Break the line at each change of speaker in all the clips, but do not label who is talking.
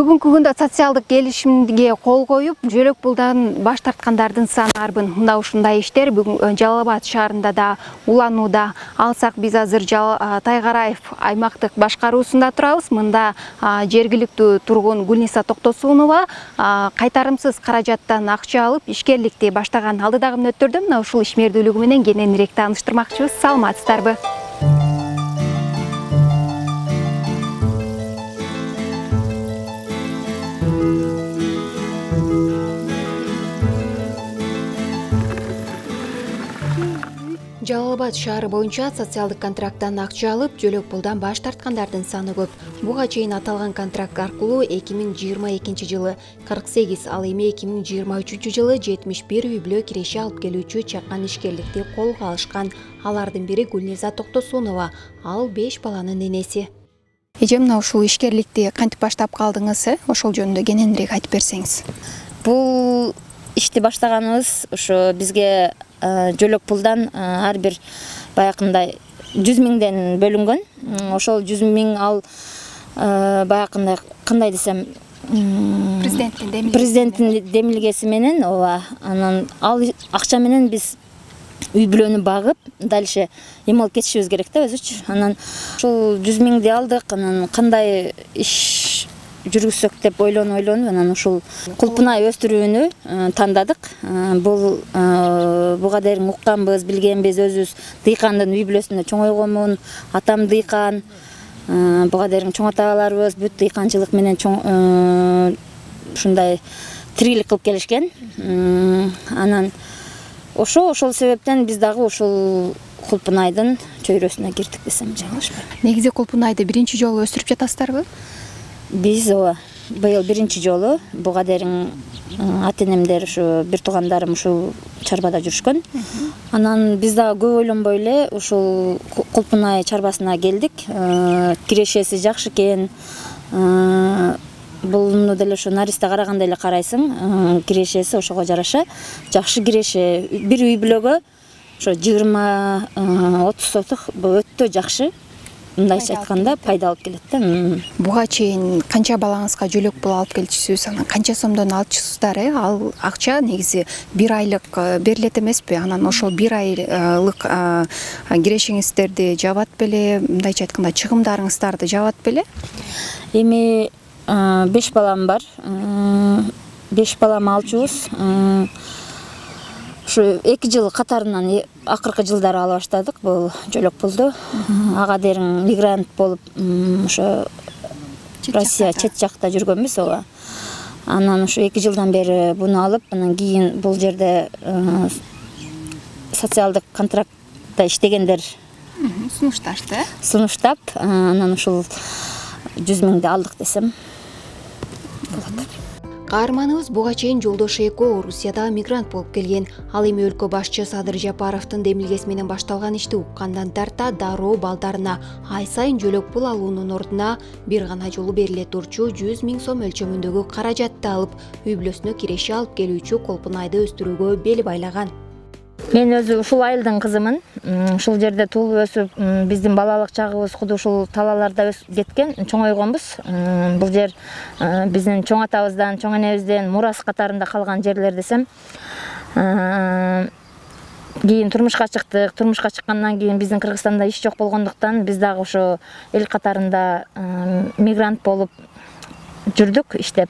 Бүгүнкү күндө социалдык келишимге кол коюп, жөлөк пулдан баш тарткандардын саны арбын. Мына ушундай иштер бүгүн Жалал Абад шаарында да уланууда. Алсак биз азыр Тайгараев аймактык башкаруусунда турабыз. Мында жергиликтүү тургун Гулниса Токтосунова кайтарымсыз каражаттан акча алып, ишкерликти баштаган. Алдыдагы мүнөттөрдө мына ушул ишмердүүлүгү менен кененирээк тааныштырмакчыбыз. Саламатсыздарбы? Жалал Абад шаары боюнча социалдык контракттан акча алып, жөлөк пулдан баш тарткандардын саны көп. Буга чейин аталган контракт аркылуу 2022 жылы 48, ал эми 2023 жылы 71 үй бүлө киреше алып келүүчү чакан ишкерликти колго алышкан. Алардын бири Гулниса Токтосунова, ал 5 баланын энеси. Эже, мына ушул ишкерликти кантип баштап калдыңыз? Ошол жөнүндө кененирээк айтып берсеңиз.
Бул ишти баштаганыбыз ошо бизге жөлөк пулдан ар бир баягындай 100 миңден бөлүнгөн. Ошол 100 миң ал баягындай кандай десем, президенттин демилгеси менен, ооба, анан ал акча менен биз үй бүлөнү багып, дальше эме алып кетишибиз керек да өзүчү. Анан ушул 100 миңди алдык, анан кандай иш жүргүзсөк деп ойлонуп, анан ушул кулпунай өстүрүүнү тандадык. Буга дейин укканбыз, билгенбиз, өзүбүз дыйкандын үй бүлөсүндө чоңойгонмун, атам дыйкан, буга дейин чоң аталарыбыз бүт дыйканчылык менен ушундай тирилик кылып келишкен. Анан ошол себептен биз дагы ушул кулпунайдын чөйрөсүнө кирдик десем жаңылышпайм.
Негизи кулпунайды биринчи жолу өстүрүп жатасыздарбы?
Биз быйыл биринчи жолу, буга дейин ата-энемдер, ушу бир туугандарым ушул чарбада жүрүшкөн. Анан биз дагы көп ойлонбой эле ушул кулпунай чарбасына келдик. Кирешеси жакшы экен. Булну деле ушу наристе карагандай эле карайсың. Кирешеси ошого жараша жакшы киреше. Бир үй бүлөгө ошо 20-30 сотук өтө жакшы. Мындайча айтканда пайда алып келет да.
Буга чейин канча балаңызга жөлөк пул алып келчүсүз, анан канча сомдон алчысыздар? Ал акча негизи бир айлык берилет эмеспи? Анан ошол бир айлык кирешеңиздерди жабат беле, мындайча айтканда чыгымдарыңыздарды жабат беле?
Эми 5 балам бар. 5 балам алчубуз. Ушу 2 жыл катарынан акыркы жылдары ала баштадык бул жөлөк пулду. Ага дейин мигрант болуп, ошо Россия чет жакта жүргөнбүз, ооба. Анан ушу 2 жылдан бери буну алып, анан кийин бул жерде социалдык контрактта иштегендер сунуштап, анан ушул 100 миңди алдык десем болот.
Каарманыбыз буга чейин жолдош Эко Орусияда мигрант болуп келген. Ал эми өлкө башчы Садыр Жапаровдун демилгеси менен башталган ишти уккандан тарта дароо балдарына ай сайын жөлөк пул алуунун ордуна бир гана жолу бериле турчу 100 миң сом өлчөмүндөгү каражатты алып, үй бүлөсүнө киреше алып келүүчү кулпунайды өстүрүүгө бел байлаган.
Мен өзү ушул айылдын кызымын. Ушул жерде туулуп өсүп, биздин балалык чагыбыз куду ушул талааларда кеткен, чоңойгонбуз. Бул жер биздин чоң атабыздан, чоң энебизден мурас катарында калган жерлер десем. Кийин турмушка чыктык. Турмушка чыккандан кийин биздин Кыргызстанда иш жок болгондуктан биз дагы ошо эл катарында мигрант болуп жүрдүк, иштеп.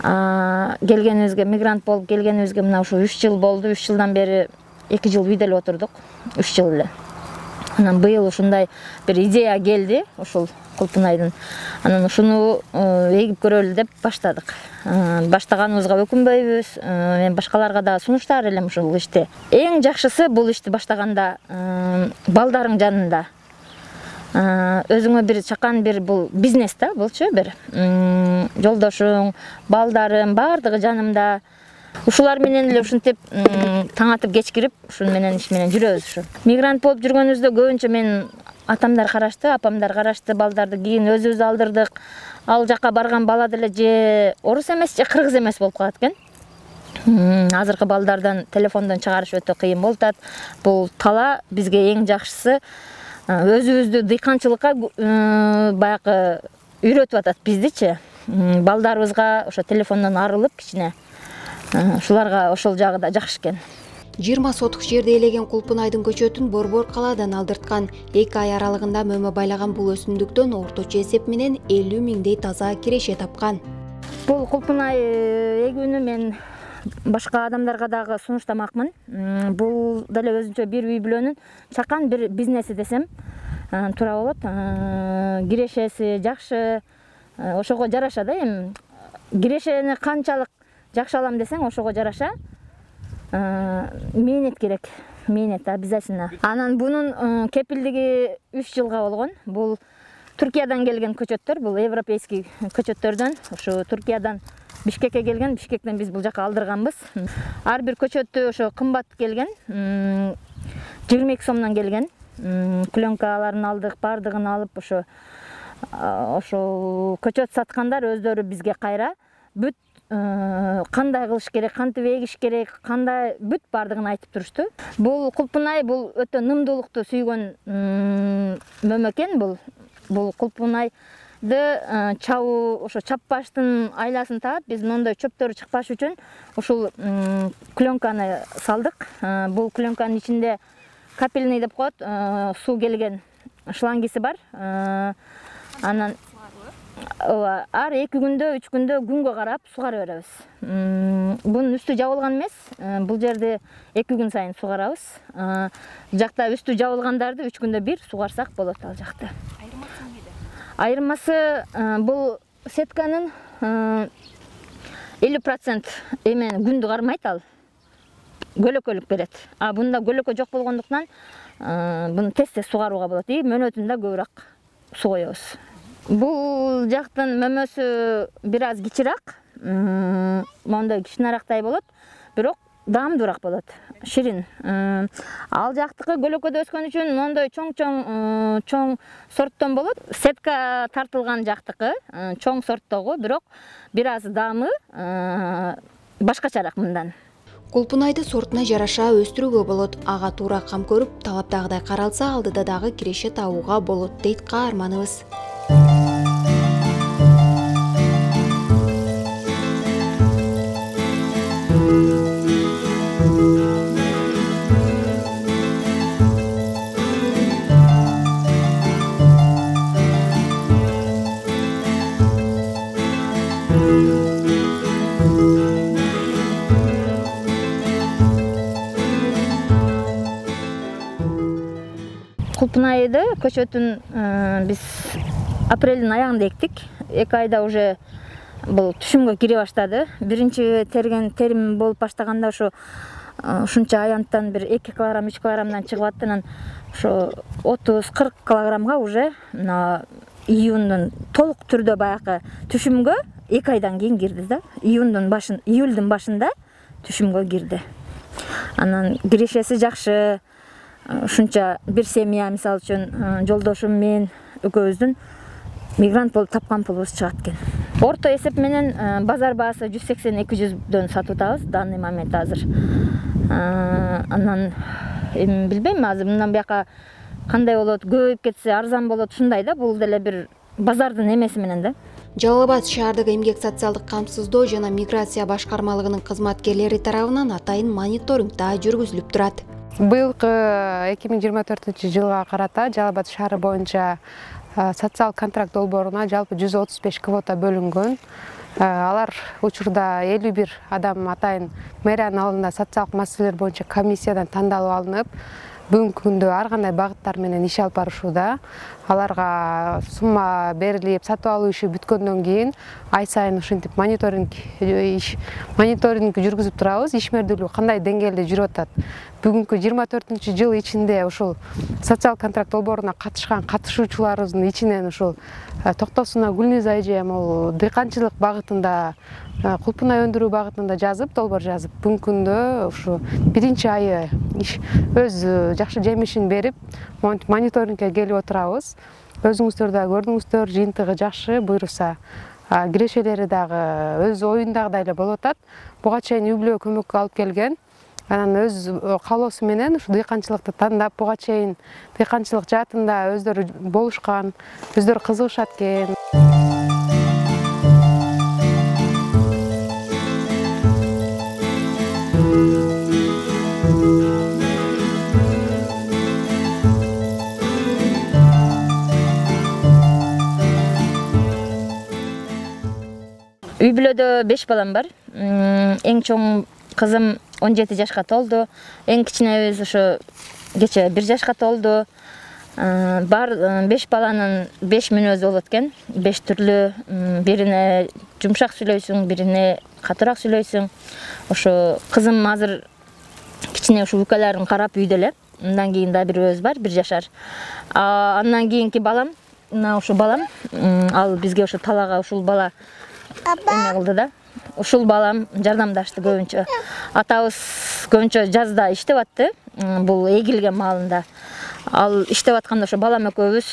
Келгенибизге, мигрант болуп келгенибизге мына ушу 3 жыл болду. 3 жылдан бери 2 жыл үйдө эле отурдук. 3 жыл эле. Анан быйыл ушундай бир идея келди, ушул кулпунайдын. Анан ушуну эгип көрөлү деп баштадык. Баштаганыбызга өкүнбөйбүз. Мен башкаларга да сунуштар элем ушул ишти. Эң жакшысы бул ишти баштаганда балдарың жанында. Өзүңө бир чакан бир бул бизнес да, булчу бир жолдошуң, балдарым бардыгы жанымда. Ушулар менен эле ушинтип таң атып кеч кирип, ушун менен иш менен жүрөбүз ушу. Мигрант болуп жүргөнүбүздө көбүнчө мен атамдар карашты, апамдар карашты, балдарды кийин өзүбүз алдырдык. Ал жака барган бала деле же орус эмес, же кыргыз эмес болуп калат экен. Азыркы балдардан телефондон чыгарыш өтө кыйын болуп атат. Бул тала бизге эң жакшысы өзүбүздү дыйканчылыкка баягы үйрөтүп атат биздичи. балдарыбызга ошо телефондон арылып кичине ушуларга ошол жагы да жакшы экен.
20 сотук жерди ээлеген Кулпунайдын көчөтүн Борбор калаадан алдырткан. 2 ай аралыгында мөмө байлаган бул өсүмдүктөн орточо эсеп менен 50 миңдей таза киреше тапкан.
Бул Кулпунай эгүүнү мен башка адамдарга дагы сунуштамакмын. Бул деле өзүнчө бир үй бүлөнүн чакан бир бизнеси десем туура болот. Кирешеси жакшы, ошого жараша да. Эми кирешени канчалык жакшы алам десең, ошого жараша мээнет керек. Мээнет обязательно. Анан бунун кепилдиги 3 жылга болгон. Бул Түркиядан келген көчөттөр, бул европейский көчөттөрдөн. Ошо Түркиядан Бишкекке келген, Бишкектен биз бул жака алдырганбыз. Ар бир көчөттү ошо кымбат келген. 22 сомдон келген. Пленкаларын алдык, бардыгын алып ошо көчөт саткандар өздөрү бизге кайра бүт кандай кылыш керек, кантип эгиш керек, кандай бүт бардыгын айтып турушту. Бул Кулпунай бул өтө нымдуулукту сүйгөн мөмө экен. Бул Кулпунайды чабуу, ошо чаппаштын айласын таап, биз мондой чөптөрү чыкпаш үчүн ушул пленканы салдык. Бул пленканын ичинде капельный деп коет, суу келген шлангиси бар. Анан ар 2 күндө, 3 күндө күнгө карап сугара беребиз. Бунун үстү жабылган эмес. Бул жерде 2 күн сайын сугарабыз. Жакта үстү жабылгандарды 3 күндө бир сугарсак болот ал жакта. Айырмасы бул сетканын 50% эмен күндү кармайт ал. Көлөкөлүк берет. Бунда көлөкө жок болгондуктан буну тез сугарууга болот. Мөөнөтүндө көбүрөөк суу коебуз. Бул жактын мөмөсү бир аз кичираак, мондой кичинерактай болот, бирок даамдуураак болот, ширин. Ал жактыкы көлөкөдө өскөн үчүн мондой чоң сорттон болот. Сетка тартылган жактыкы чоң сорттогу, бирок бир аз даамы башкачараак мындан.
Кулпунайды сортуна жараша өстүрүүгө болот. Ага туура кам көрүп, талаптагыдай каралса, алдыда дагы киреше табууга болот, дейт каарманыбыз.
Кулпунайды көчөтүн биз апрелдин аягында эктик. 2 айда уже бул түшүмгө кире баштады. Биринчи терим болуп баштаганда ушунча аянттан бир 2 килограмм, 3 килограммдан чыгып атты. Анан ошо 30-40 килограммга уже июндун толук түрдө баягы түшүмгө 2 айдан кийин кирди да. Июлдун башында түшүмгө кирди. Анан кирешеси жакшы. Ушунча бир семья, мисалы үчүн жолдошум мен экөөбүздүн мигрант болуп тапкан пулубуз чыгат экен. Орто эсеп менен базар баасы 180-200дөн сатып атабыз данный момент азыр. Анан эми билбейм, азыр мындан бияка кандай болот, көбөйүп кетсе арзан болот, ушундай да. Бул деле бир базардын эмеси менен да.
Жалал Абад шаардык эмгек социалдык камсыздоо жана миграция башкармалыгынын кызматкерлери тарабынан атайын мониторинг да жүргүзүлүп турат.
Быйылкы 2024-жылга карата Жалал Абад шаары боюнча социалдык контракт долбооруна жалпы 135 квота бөлүнгөн. Алар учурда 51 адам атайын мэриянын алдында социалдык маселелер боюнча комиссиядан тандалып алынып, бүгүнкү күндө ар кандай багыттар менен иш алып барышууда. Аларга сумма берилип, сатып алуу иши бүткөндөн кийин ай сайын ушинтип мониторинг жүргүзүп турабыз. Ишмердүүлүк кандай деңгээлде жүрүп атат. Бүгүнкү 24-жыл ичинде ушул социалдык контракт долбооруна катышкан катышуучуларыбыздын ичинен ушул Токтосунов Гүлниза эже дыйканчылык багытында, Кулпунай өндүрүү багытында долбоор жазып, бүгүнкү күндө ушу биринчи айы өз жакшы жемишин берип, мониторингке келип отурабыз. Өзүңүздөр да көрдүңүздөр, жыйынтыгы жакшы, буйруса кирешелери дагы өз оюндагыдай эле болуп атат. Буга чейин үй бүлөгө көмөккө алып келген. Анан өз каалоосу менен ушу дыйканчылыкты тандап, буга чейин дыйканчылык жаатында өздөрү болушкан, өздөрү кызыгышат экен.
Үй бүлөдө 5 балам бар. Эң чоң кызым 17 жашка толду. Эң кичинебиз ошо кече 1 жашка толду. Бар 5 баланын 5 мүнөзү болот экен. 5 түрлүү, бирине жумшак сүйлөйсүң, бирине катуураак сүйлөйсүң. Ошо кызым азыр кичине ушу укаларын карап үйдө эле. Андан кийин да бирөөбүз бар, 1 жашар. Андан кийинки балам, мына ушул балам, ал бизге ошо талаага ушул бала эме кылды да. Ушул балам жардамдашты көбүнчө. Атабыз көбүнчө жазда иштеп атты, бул эгилген маалында. Ал иштеп атканда ошо балам экөөбүз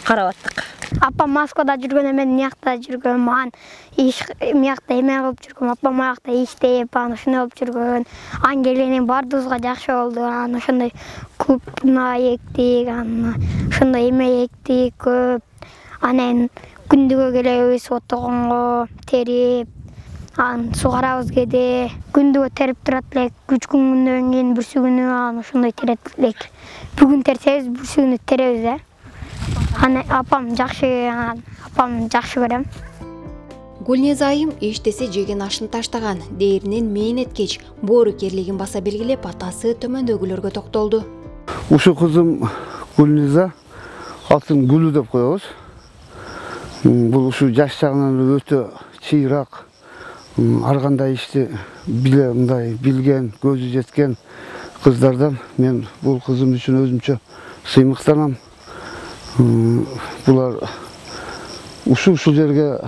карап аттык.
Апам Москвада жүргөн, мен мыякта жүргөн, ман иш мыякта эме кылып жүргөн, апам аякта иштеп, ошондой болуп жүргөн. Ан келгенин баардыгыбызга жакшы болду. Ошондой клубуна эктик, ошондой эме эктик көп. Анан күндүгө келебиз отогонго, терип, сугарабыз кээде. Күндүгө терип турат элек, 3 күндөн кийин бүрсү күнү ошондой терет элек. Бүгүн терсебиз, бүрсү күнү теребиз да. Апам жакшы көрөм.
Гүлнеза айым эчтесе жеген ашын таштаган, дээринен мээнеткеч, боору керлигин баса белгилеп, атасы төмөндөгүлөргө токтолду.
Ушу кызым Гүлнеза, атын Гүлү деп коебуз. Бул ушу жаш жагынан өтө чыйрак, ар кандай ишти мындай билген, көзү жеткен кыздардан мен бул кызым үчүн өзүмчө сыймыктанам. Булар ушул жерге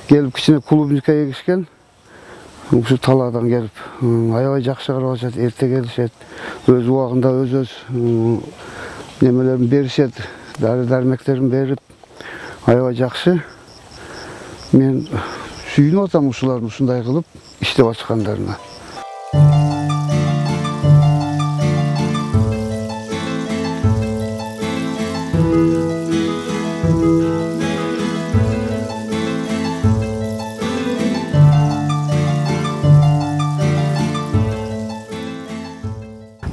келип кичине клубника эгишкен. Ушу талаадан келип аябай жакшы карап, эрте келишет. Өз убагында өз немелерин беришет, дары-дармектерин берип, аябай жакшы. Мен сүйүнүп атам ушулардын ушундай кылып иштеп ачкандарына.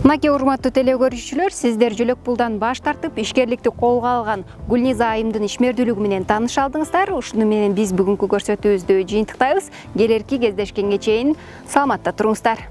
Мынакей урматтуу теле көрүүчүлөр, сиздер Жөлөк Пулдан баш тартып, ишкерликти колго алган Гүлнеза айымдын ишмердүүлүгү менен тааныша алдыңыздар. Ушуну менен биз бүгүнкү көрсөтүүбүздү жыйынтыктайбыз. Келерки кездешкенге чейин саламатта туруңуздар.